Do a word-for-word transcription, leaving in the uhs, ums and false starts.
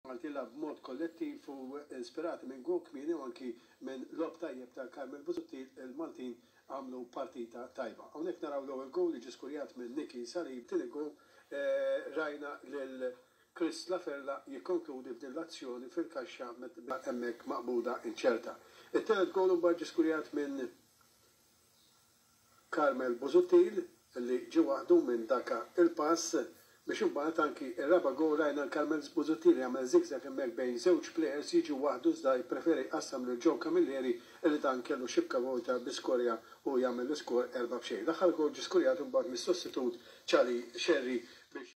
Malti lagħbu b'mod kollettiv u inspirati minn goal kmieni u anki minn logħob tajjeb ta' Carmel Busuttil, il-Maltin għamlu partita tajba. Hawnhekk naraw l-ewwel goal li ġie skurjat minn Niki Salib, tieni goal eh, rajna lil Chris Laferla jikkonkludi f'din l-azzjoni fil-kaxxa hemmhekk maqbuda inċerta. It-tielet goal mbagħad ġie skurjat minn Carmel Busuttil li ġie waħdu minn daka il-pass biex imbagħad anki ir-raba' goal rajna l-Carmel Busuttil jagħmel zigzag hemmhekk bejn żewġ players, jiġi waħdu iżda jpreferi jqassam lil Joe Camilleri li dan kellu xibka vojta bi skorja u jagħmel l-iskor erba' b'xejn. L-aħħar goal ġie skurjat imbagħad mis-sostitut Charlie Sherry biex